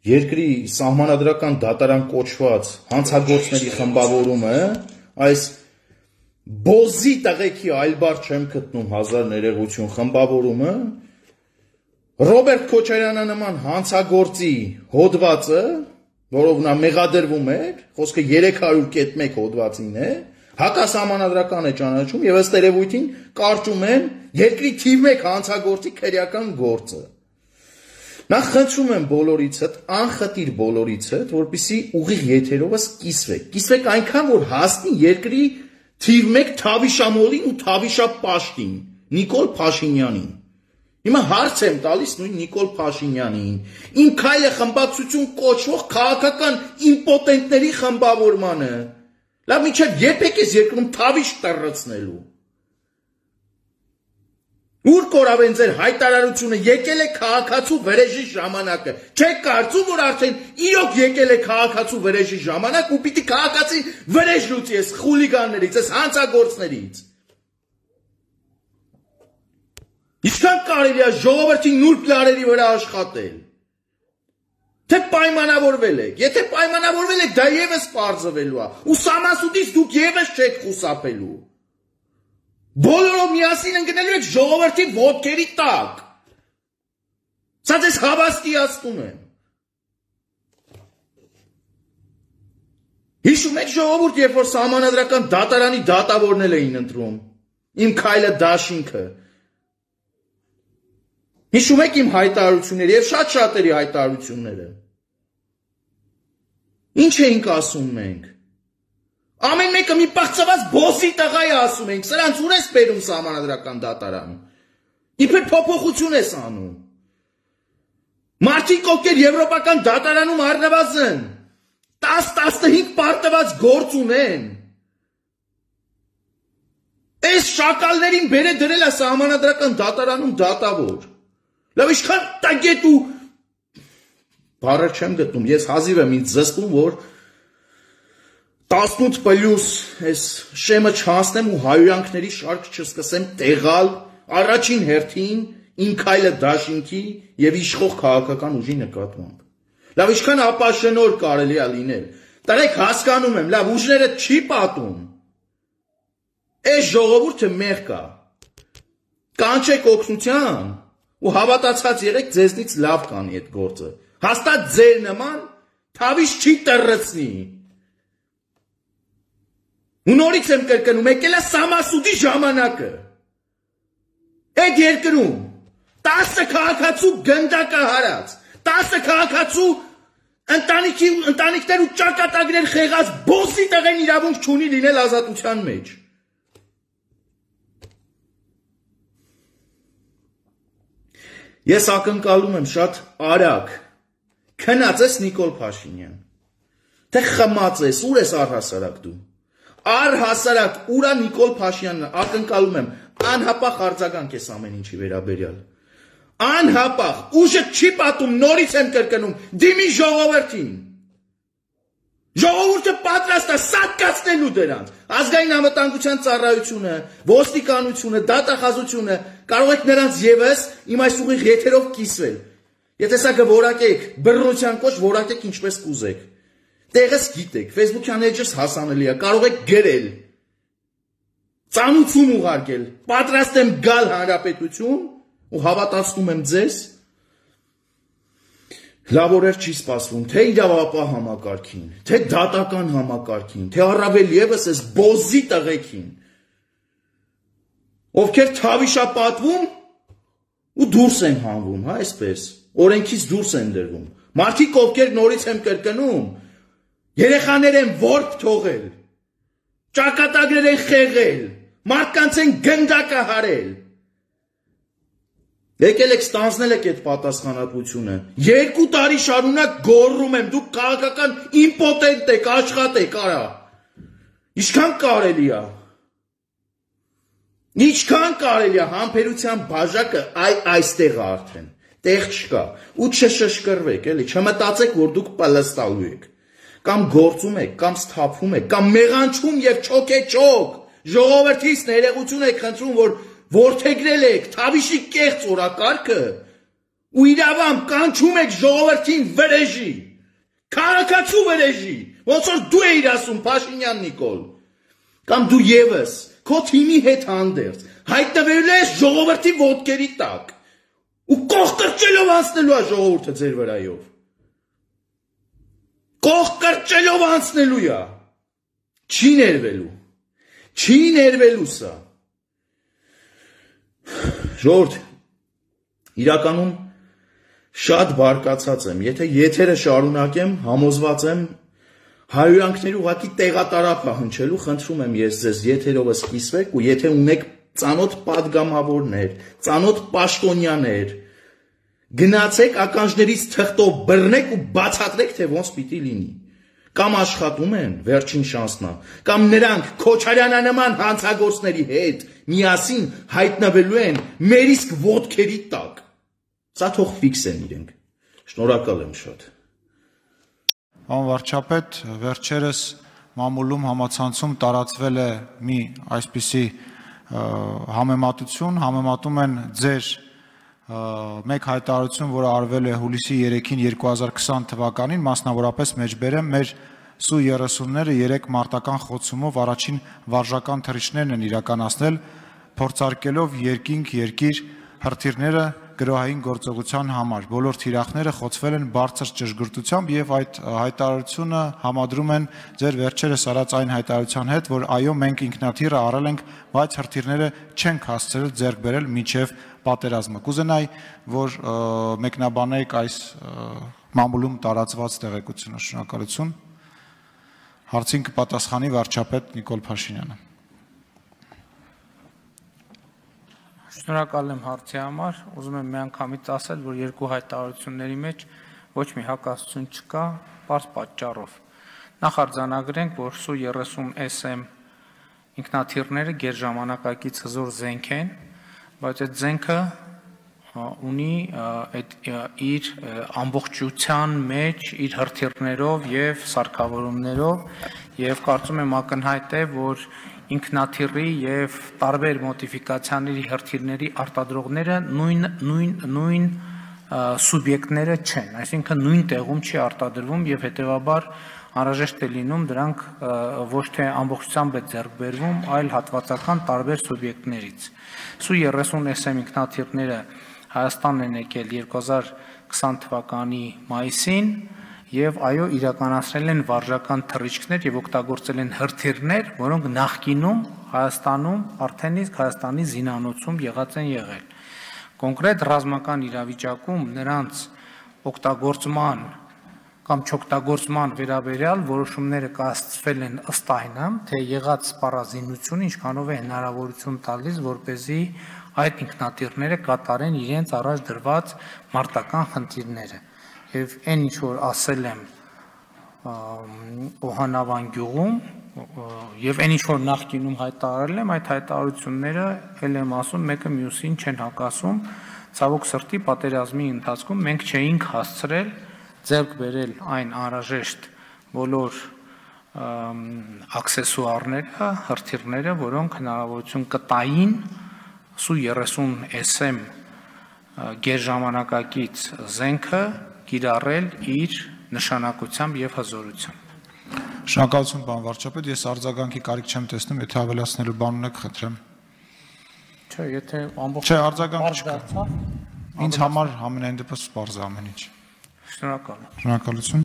երկրի սահմանադրական դատարան կոչված հանցագործների խմբավորումը, այս բոզի տղեկի այլ բառ չեմ գտնում 1000 ներողություն խմբավորումը, Ռոբերտ Քոչարյանը նման հանցագործի հոդվածը, որով նա մեղադրվում էր, խոսքը 300.1 հոդվածին է, հակասահմանադրական է ճանաչում եւ ըստ երևույթին կարճում են երկրի թիվ 1 հանցագործի քրեական գործը։ Նախ խնդրում եմ բոլորիցդ, անխտիր բոլորիցդ, որպեսզի ուղիղ եթերովս կիսվեք այնքան, որ հասնի երկրի թիվ 1 Թավիշամոլին ու Թավիշապաշտին, Նիկոլ Փաշինյանին։ Հիմա հարց եմ տալիս նույն Նիկոլ Փաշինյանին, իմ քայլը խմբակցություն կոչվող քաղաքական իմպոտենտների խմբավորմանը։ Լավ, մինչև երբ եք ես երկրում Թավիշ տրռցնելու։ Ուր կորավ են ձեր հայտարարությունը, եկել է քաղաքացու վրեժի ժամանակը, չեք կարծում, որ արդեն իրոք եկել է քաղաքացու վրեժի ժամանակ ու պիտի քաղաքացի վրեժ լուծի ես խուլիգաններից, ես հանցագործներից։ Ինչքան կարելի է ժողովրդի նուրբ լարերի վրա աշխատել։ Թե պայմանավորվել եք, եթե պայմանավորվել եք, դա եւս պարզվելու է, ու Սամասուդից դուք եւս չեք խուսափելու։ Բոլորով միասին ընկնելու եք ժողովրդի ոտքերի տակ։ Սա ձեզ հավաստիացնում եմ։ Հիշում եք ժողովուրդ, երբ որ սահմանադրական դատարանի դատավորներ էին ընտրում, իմ քայլը դաշինքը։ Հիշում եք իմ հայտարարությունները եւ շատ շատերի հայտարարությունները։ Ինչ էինք ասում մենք։ Ամեն մեկը մի պաղծված բոսի տղա է ասում ենք, սրանց ուր ես բերում սահմանադրական դատարան։ Իբր փոփոխություն ես անում։ Մարդիկ ովքեր եվրոպական դատարանում առնվազն 10-15 պարտված գործ ունեն։ Այս շակալներին բերե դրել է սահմանադրական դատարանում դատավոր։ Լավ, ինչքան տագետ ու բառը չեմ գտնում, ես հազիվ եմ ինձ զսպում, որ 18+ այս շեմը չհասնեմ ու հայոյանքների շարք չսկսեմ տեղալ առաջին հերթին իմ քայլը դաշինքի եւ իշխող քաղաքական ուժի նկատմամբ։ Լավ, ինչքան ապաշնոր կարելի է լինել։ Տարեք հասկանում եմ, լավ, ուժները չի պատում։ Այս ժողովուրդը մեղք է։ Կանչեք օգնության ու հավատացած եղեք ձեզնից լավ կանի այդ գործը։ Հաստատ ձեր նման Թավիշ չի տրռցնի։ Ու նորից եմ կրկնում, եկել է Սամասուդի ժամանակը։ Այդ երկրում 10 քաղաքացու գնդակը հարած, 10 քաղաքացու ընտանիքներ ու ճակատագրեր խեղած բոսի տղեն իրավունք չունի լինել ազատության մեջ։ Ես ակնկալում եմ շատ արագ քնած ես Նիկոլ Փաշինյան, թե խմած ես, ուր ես առհասարակ դու։ Առհասարակ ուրա Նիկոլ Փաշինյանն ակնկալում եմ անհապաղ արձագանք ես ամեն ինչի վերաբերյալ։ Անհապաղ, ուժը չի պատում, նորից եմ կրկնում, դիմի ժողովրդին։ Ժողովուրդը պատրաստ է սատկացնելու դրանց։ Ազգային անվտանգության ծառայությունը, ոստիկանությունը, դատախազությունը կարող եք նրանց եւս իմ այս ուղիղ եթերով կիսվել։ Եթե սա կորակեք, բռնության կոչ որակեք ինչպես կուզեք։ Տեղս գիտեք, Facebook-յան էջս հասանելի է, կարող եք գրել, ծանուցում ուղարկել, պատրաստ եմ գալ հանրապետություն ու հավատացնում եմ ձեզ, լավ օրեր չի սպասվում, թե իրավապահ համակարգին, թե դատական համակարգին, թե առավել ևս այս բոզի տղեկին, ովքեր Թավիշա պատվում ու դուրս են հանվում, հա, այսպես, օրենքից դուրս են դրվում, մարդիկ ովքեր նորից եմ կրկնում, երեխաներ են որբ թողել, ճակատագրեր են խեղել, մարդկանց են գնդակը հարել։ Եկել եք ստանձնել եք այդ պատասխանատվությունը։ 2 տարի շարունակ գոռում եմ, դուք քաղաքական իմպոտենտ եք, աշխատեք, արա։ Ինչքան կարելի է։ Ինչքան կարելի է համբերության բաժակը այստեղ է արդեն։ Տեղ չկա։ Ու չշշկրվեք, էլի, չմտածեք, որ դուք պլստալու եք։ Կամ գործում եք, կամ սթափվում եք, կամ մեղանչում եւ չոքեչոք։ Ժողովրդից ներողություն եք խնդրում, որ որդեգրել եք Թավիշի կեղծ օրակարգը ու իրավամբ կանչում եք ժողովրդին վրեժի, քաղաքացու վրեժի, ոնց որ դու էիր ասում Փաշինյան Նիկոլ, կամ դու եւս քո թիմի հետ հանդերձ հայտնվելու ես ժողովրդի ոտքերի տակ ու կողկրճելով անցնելու է ժողովուրդը ձեր վրայով, կողկրճելով անցնելու է, չի ներվելու սա, ժողովուրդ, իրականում շատ բարկացած եմ, եթե եթերը շարունակեմ, համոզված եմ, հարյուրանքների ուղղակի տեղատարափ է հնչելու, խնդրում եմ ես ձեզ եթերովս կիսվեք ու եթե ունեք ծանոթ պատգամավորներ, ծանոթ պաշտոնյաներ, գնացեք ականջներից թղթով բռնեք ու բացատրեք, թե ոնց պիտի լինի, կամ աշխատում են, վերջին շանսն է, կամ նրանք Քոչարյանանման հանցագործների հետ միասին հայտնվելու են մեր իսկ ոտքերի տակ, սա թող ֆիքսեն իրենք, շնորհակալ եմ շատ։ Պարոն վարչապետ, վերջերս մամուլում համացանցում տարածվել է մի այսպիսի համեմատություն, համեմատում են ձեր մեկ հայտարարություն, որը արվել է հուլիսի 3-ին 2020 թվականին, մասնավորապես մեջբերեմ մեր Սու-30-ները 3 մարտական խոցումով առաջին վարժական թռիչքներն են իրականացնել, փորձարկելով երկիր հրթիռները գրոհային գործողության համար։ Բոլոր թիրախները խոցվել են բարձր ճշգրտությամբ եւ այդ հայտարարությունը համադրում են ձեր վերջերս արած այն հայտարարության հետ, որ այո, մենք ինքնաթիռը առել ենք, բայց հրթիռները չենք հասցրել ձեռք բերել մինչև պատերազմը։ Կուզենայի, որ մեկնաբանեք այս մամուլում տարածված տեղեկությունը, շնորհակալություն։ Հարցին կպատասխանի վարչապետ Նիկոլ Փաշինյանը։ Շնորհակալ եմ հարցի համար, ուզում եմ միանգամից ասել, որ երկու հայտարարությունների մեջ ոչ մի հակասություն չկա, պարզ պատճառով։ Նախ արձանագրենք, որ Սու-30SM ինքնաթիռները գերժամանակակից հզոր զենք են, բայց այդ զենքը ունի իր ամբողջության մեջ իր հրթիռներով եւ սարքավորումներով եւ կարծում եմ ակնհայտ է, որ ինքնաթիռի եւ տարբեր մոդիֆիկացիաների հրթիռների արտադրողները նույն սուբյեկտները չեն, այսինքն նույն տեղում չի արտադրվում եւ հետեւաբար անհրաժեշտ է լինում դրանք ոչ թե ամբողջությամբ է ձեռք բերվում, այլ հատվածական տարբեր սուբյեկտներից։ Սու-30SM ինքնաթիռները Հայաստան են եկել 2020 թվականի մայիսին եւ այո իրականացրել են վարժական թռիչքներ եւ օգտագործել են հրթիռներ, որոնք նախկինում Հայաստանում արդեն իսկ Հայաստանի զինանոցում եղած են եղել։ Կոնկրետ ռազմական իրավիճակում նրանց օգտագործման կամ չօգտագործման վերաբերյալ որոշումները կայացվել են ըստ այնը, թե եղած սպառազինությունը ինչքանով է հնարավորություն տալիս, որպեսզի այդ ինքնաթիռները կատարեն իրենց առաջ դրված մարտական խնդիրները։ Եվ այն ինչ որ ասել եմ Օհանավան գյուղում եւ այն ինչ որ նախկինում հայտարարել եմ, այդ հայտարարությունները ել եմ ասում, մեկը մյուսին չեն հակասում, ցավոք սրտի պատերազմի ընթացքում մենք չէինք հասցրել ձեռք բերել այն անհրաժեշտ բոլոր աքսեսուարները, հրթիռները, որոնք հնարավորություն կտային Սու-30SM գերժամանակակից զենքը կիրառել իր նշանակությամբ եւ հզորությամբ։ Շնորհակալություն, պարոն վարչապետ, ես արձագանքի կարիք չեմ տեսնում, եթե ավելացնելու բան ունեք, խնդրեմ։ Չէ, եթե ամբողջ Չէ, արձագանք չկա։ Ինձ համար ամենայն դեպս պարզ է ամեն ինչ։ Շնորհակալ եմ։ Շնորհակալություն։